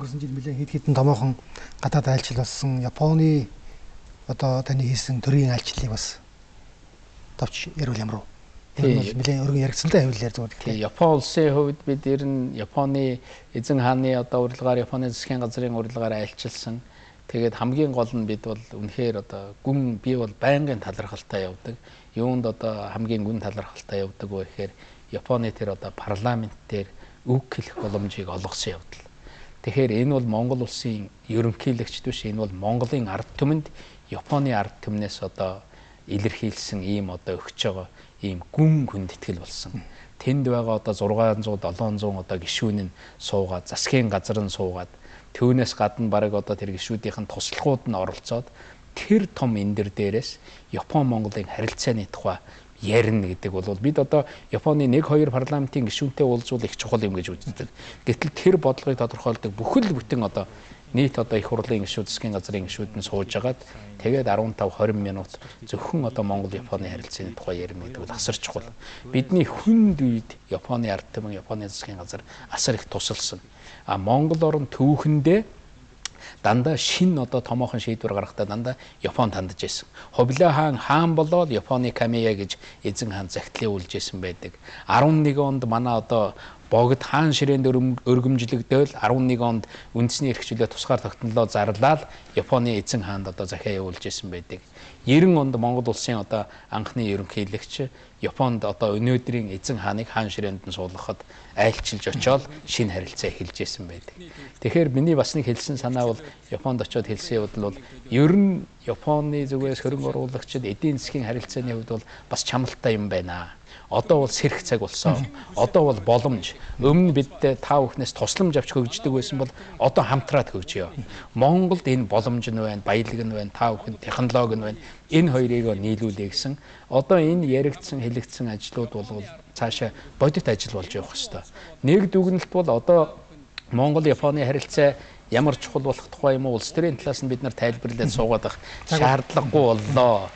өнгөрсөн жил нэлээд хэд хэдэн томоохон гадаад айлчил болсон Японы одоо таны хийсэн төрийн айлчлалыг бас товч ярил ямар уу? Тийм нэлээд өргөн яригдсан л хэвлэлээр зүгээр. Тийм Япон улсын хувьд бид ер нь Японы эзэн хааны одоо урилгаар Японы засгийн газрын урилгаар айлчилсан. Тэгээд хамгийн гол нь бид бол үнэхээр одоо би бол байнгын талархалтай явдаг. Юунд одоо хамгийн гүн талархалтай явдаг вэ гэхээр Японы тэр одоо парламент дээр үг хэлэх боломжийг олгосон явдал. Тэгэхээр энэ бол Монгол улсын ерөнхийлөгчд биш, энэ бол Монголын ард түмэнд Японы ард түмнээс одоо илэрхийлсэн ийм одоо өгч байгаа ийм гүн хүндэтгэл болсон. Тэнд байгаа одоо 600 700 одоо гишүүн нь суугаад, засгийн газар нь суугаад, түүнээс гадна бараг одоо тэр гишүүдийн туслахууд нь оролцоод тэр том эндэр дээрээс Япон Монголын харилцааны тухай ярина гэдэг бол бид одоо Японы 1-2 парламентын гишүүнтэй уулзвал их чухал юм гэж үздэг. Гэтэл тэр бодлогыг тодорхойлдог бүхэл бүтэн одоо нийт одоо их хурлын гишүүд, засгийн газрын гишүүд нь сууж агаад тэгээд 15-20 минут зөвхөн одоо Монгол Японы харилцааны тухай ярина гэдэг бол асар чухал. Бидний хүнд үед Японы ард түмэн, Японы засгийн газар асар их тусалсан. Монгол орн түүхэндээ дандаа шин одоо томоохон шийдвэр гаргахдаа дандаа Япон тандж байсан. Хобило хаан болоод Японы Камея гэж эзэн хаан захидлын үлж байсан байдаг. 11 онд манай одоо богд хаан ширээнд өргөмжлөгдөөл 11 онд үндэсний эрхчлөө тусгаар тогтнолоо зарлаад Японы эзэн хаанд одоо захиа явуулж байсан байдаг. 90 онд Монгол улсын одоо анхны ерөнхийлөгч Японд одоо өнөөдрийн эзэн хааныг хаан ширээнд нь суулгахад айлчилж очоод шинэ харилцаа эхэлж байсан байдаг. Тэгэхээр миний бас нэг хэлсэн санаа бол Японд очоод хэлсэн явдал бол ер нь Японы зүгээс хөрөнгө оруулагчид эдийн засгийн харилцааны хувьд бол бас чамлалтай юм байна. Одоо бол сэрх цаг болсон. Одоо бол боломж. Өмнө бид та бүхнээс тусламж авч хөгждөг байсан бол одоо хамтраад хөгжиё. Монголд энэ боломж нь байна, баялаг нь байна, та бүхэн технологи нь байна. Энэ хоёрыг нийлүүлээ гэсэн. Одоо энэ яригдсан, хэлэгдсэн ажлууд бол цаашаа бодит ажил болж явах ёстой. Нэг дүгнэлт бол одоо Монгол Японы харилцаа ямар чухал болох тухай юм уу улс төрийн талаас нь бид нар тайлбарлаад суугаад байх шаардлагагүй боллоо.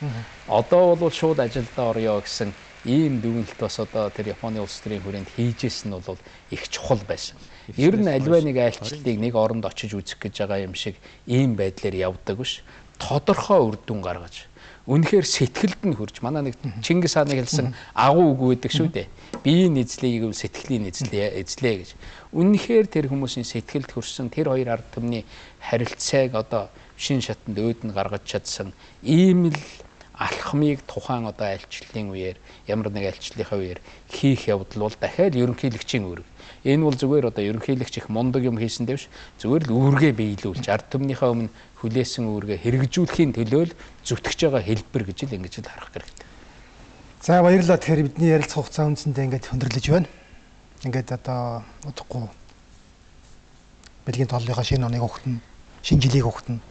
Одоо бол шууд ажилдаа орё гэсэн ийм дүгнэлт бас одоо тэр Японы улс төрийн хүрээнд хийжсэн нь бол их чухал байсан. Ер нь альва нэг айлчлалыг нэг оронд очиж үзэх гэж байгаа юм шиг ийм байдлаар явдаг биш. Тодорхой үр дүн гаргаж үнэхээр сэтгэлд нь хүрч манай нэг Чингис хааны хэлсэн агуу үг байдаг шүү дээ. Биеийн эзлэе гэвэл сэтгэлийн эзлэе гэж. Үнэхээр тэр хүмүүсийн сэтгэлд хүрсэн тэр хоёр ард түмний харилцааг одоо шин шатанд өөд нь гаргаж чадсан ийм л алхмыг тухайн одоо айлчлалын үеэр ямар нэг айлчлалынхаа үеэр хийх явдал бол дахиад ерөнхийлөгчийн үүрэг. Энэ бол зүгээр одоо ерөнхийлөгч их мундаг юм хийсэн дэвш зүгээр л үүргээ биелүүлж ард түмнийхээ өмнө хүлээсэн үүргээ хэрэгжүүлэхийн төлөө л зүтгэж байгаа хэлбэр гэж л ингэж л харах хэрэгтэй. За баярлалаа. Тэгэхээр бидний ярилцах хугацаа үндсэндээ ингээд хөндөрлөж байна. Ингээд одоо удахгүй Бэлгийн толлынхаа шинэ оныг өгтөн, шинэ жилийг өгтөн.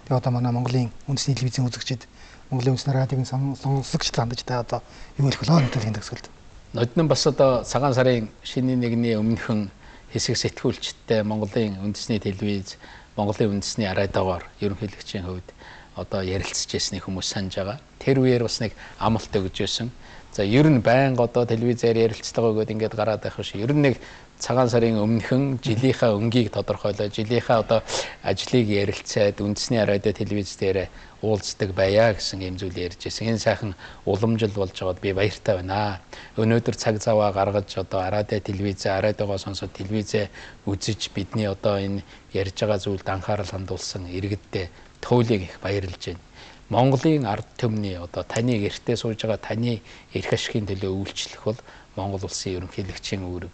Тэгээ одоо манай Монголын үндэсний телевизийн үзэгчид Монголын үндэсний радиогийн сонсогчд хандаж та одоо юу хэлэх вэ өнөөдрийн төгсгөлд? Ноднон бас одоо цагаан сарын шинэ нэгний өмнөхөн хэсэг сэтгүүлчдтэй Монголын үндэсний телевиз, Монголын үндэсний радиогоор ерөнхийлөгчийн хувьд одоо ярилцж байсныг хүмүүс санаж байгаа. Тэр үеэр бас нэг амлалт өгж байсан. За ер нь байнга одоо телевизээр ярилцдаг өгөөд ингээд гараад байх биш. Ер нь нэг цагаан сарын өмнөхөн жилийнхаа өнгийг тодорхойлоо, жилийнхаа одоо ажлыг ярилцаад үндэсний радио телевиз дээр уулздаг байя гэсэн юм зүйл ярьж байсан. Энэ сайхан уламжил болж байгаад би баяртай байна. Өнөөдөр цаг заваа гаргаж одоо радио телевизээ, радиогоо сонсоод телевизээ үзэж бидний одоо энэ ярьж байгаа зүйлд анхаарал хандуулсан иргэддээ туйлыг их баярлж байна. Монголын ард түмний одоо таны гэртээ сууж байгаа таны эрх ашигын төлөө үйлчлэх бол Монгол улсын ерөнхийлөгчийн үүрэг.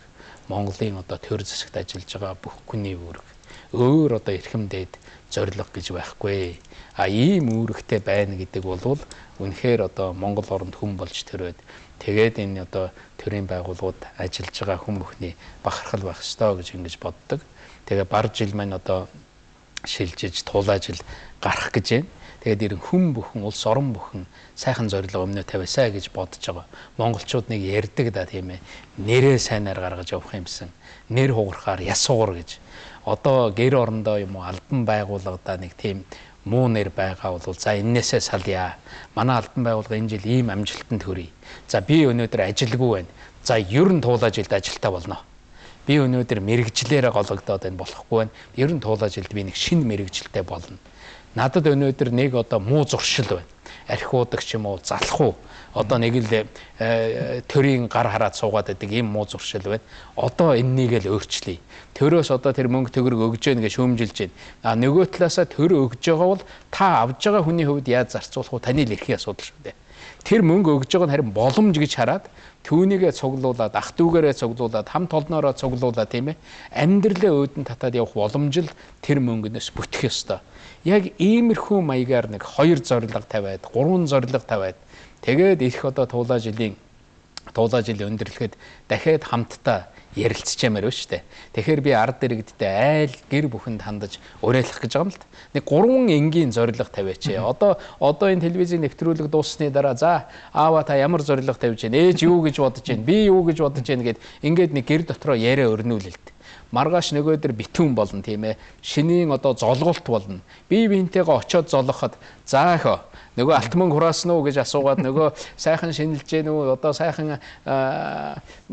Монголын одоо төр засагт ажиллаж байгаа бүх хүний үүрэг. Өөр одоо эрхэмдээд зориг гэж байхгүй. Ийм үүрэгтэй байна гэдэг бол үнэхээр одоо Монгол оронд хүн болж төрөөд тэгээд энэ одоо төрийн байгууллагууд ажиллаж байгаа хүн бүхний бахархал байх ёстой гэж ингэж боддог. Тэгээ бар жил маань одоо шилжиж тулаажил гарах гэж байна. Тэгээд ирэн хүн бүхэн улс орон бүхэн сайхан зориг өмнө тавиасаа гэж бодож байгаа. Монголчууд нэг ярьдаг да тийм ээ. Нэрээ сайнаар гаргаж явах юмсан. Нэр хугарахаар яс сугар гэж. Одоо гэр орондоо юм уу албан байгууллагада нэг тийм муу нэр байгаа бол за энээсээ салъя. Манай албан байгууллага энэ жил ийм амжилтанд хүрье. За би өнөөдөр ажилгүй байна. За ер нь туулаажилд ажилтаа болно. Би өнөөдөр мэрэгжлээрээ гологдоод энэ болохгүй байна. Ер нь туулаа жилд би нэг шинэ мэрэгжилтэй болно. Надад өнөөдөр нэг одоо муу зуршил байна. Архиудаг ч юм уу, залах уу. Одоо нэг л төрийн гар хараад суугаад байдаг ийм муу зуршил байна. Одоо энэнийг л өөрчлөе. Төрөөс одоо тэр мөнгө төгрөг өгж гэнэ гэж шүүмжилж байна. Нөгөө талаасаа төр өгж байгаа бол та авж байгаа хүний хувьд яаж зарцуулах вэ? Таны л эрхийн асуудал шүү дээ. Тэр мөнгө өгж байгаа нь харин боломж гэж хараад түүнийгээ цуглуулад, ах дүүгээрээ цуглуулад, хамт олноороо цуглуулад тийм ээ. Амьдралаа өөдөн татаад явах боломж л тэр мөнгөнөөс бүтгэх ёстой. Яг иймэрхүү маягаар нэг 2 зорилго тавиад, 3 зорилго тавиад тэгээд их одоо туулаа жилийн өндөрлөхөд дахиад хамтдаа ярилцчаамаар байна шүү дээ. Тэгэхээр би ард иргэдтэй айл гэр бүхэнд хандаж уриалах гэж байгаа юм л та. Нэг 3 энгийн зорилго тавиач. Одоо энэ телевизийн нэвтрүүлэг дууссаны дараа за аава та ямар зорилго тавьж байна? Ээж юу гэж бодож байна? Би юу гэж бодож байна гэд ингээд нэг гэр дотроо яриа өрнүүлэлт. Маргааш нөгөөдөр битүүн болно тийм ээ. Шинийн одоо золголт болно. Бие биентэйгээ очиод золгоход за өхөө нөгөө алт мөнгө хураасан уу гэж асуугаад нөгөө сайхан шинэлж гэнэ үү одоо сайхан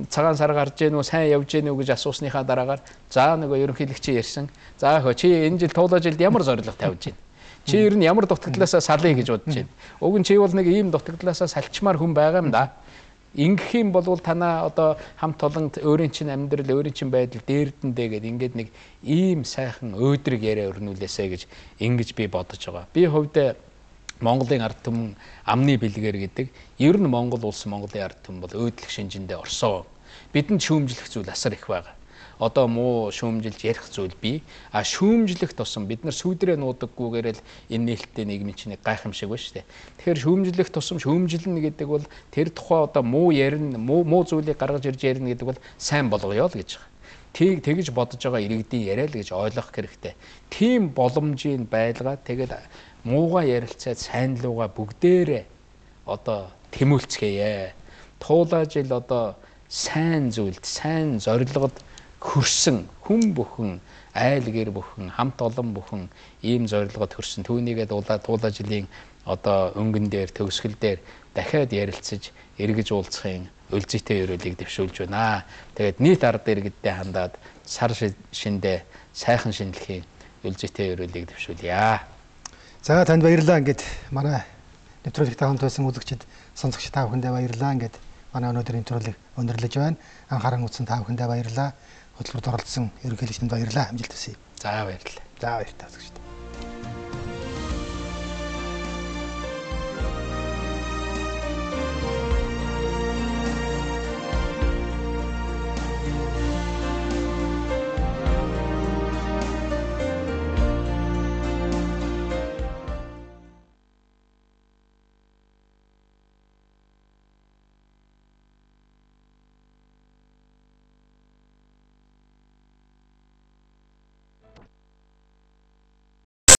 цагаан сар гарч гэнэ үү сайн явж гэнэ үү гэж асуусныхаа дараагаар за нөгөө ерөнхийлөгч ярьсан. За өхөө чи энэ жил туулаа жилд ямар зорилго тавьж байна? Чи ер нь ямар дутагдлаасаа салъя гэж бодож байна? Уг нь чи бол нэг ийм дутагдлаасаа салчмаар хүн байгаа юм да. Ингэх юм бол танаа одоо хамт олонд өөрийн чинь амьдрал, өөрийн чинь байдал дээрдэндээ гэдэг ингээд нэг ийм сайхан өөдрөг яриа өрнүүлээсэ гэж ингэж би бодож байгаа. Би хувьдаа Монголын ард түмэн амны бэлгээр гэдэг ер нь Монгол улс Монголын ард түмэн бол өөдлөх шинжиндээ орсон. Бидэнд шүүмжлэх зүйл асар их байгаа. Одоо муу шүүмжилж ярих зүйл бий. Шүүмжлэх тусам бид нар сүйдрээ нуудаггүйгээр л энэ нээлттэй нийгмийн чинь гайхамшиг ба штэ. Тэгэхээр шүүмжлэх тусам шүүмжилнэ гэдэг бол тэр тухай одоо муу ярина, муу зүйлийг гаргаж ирж ярина гэдэг бол сайн болгоё л гэж байгаа. Тэгж бодож байгаа иргэдийн яриа л гэж ойлгох хэрэгтэй. Тийм боломжийн байлгаа тэгээд муугаа ярилцаад сайн луугаа бүгдээрээ одоо тэмүүлцгээе. Туулаа жил одоо сайн зүйлд, сайн зорилгод хүрсэн хүн бүхэн, айл гэр бүхэн, хамт олон бүхэн ийм зорилгод хүрсэн. Түүнийгээ туулаа жилийн одоо өнгөн дээр, төгсгөл дээр дахиад ярилцаж, эргэж уулзахын өлзийтэй өрөөлийг дэвшүүлж байна. Тэгээд нийт ард иргэдтэй хандаад сар шиндээ сайхан шинэлхийн өлзийтэй өрөөлийг дэвшүүлье. За танд баярлалаа. Ингээд манай нэвтрүүлэгтэй хамт байсан үзэгчид, сонсогч та бүхэндээ баярлалаа. Ингээд манай өнөөдрийн нэвтрүүлэг өндөрлөж байна. Анхааран үзсэн та бүхэндээ баярлалаа. Хөтөлбөрт оролцсон ерөнхийлөгчөнд баярлалаа. Амжилт хүсье. За баярлалаа. За баярлалаа.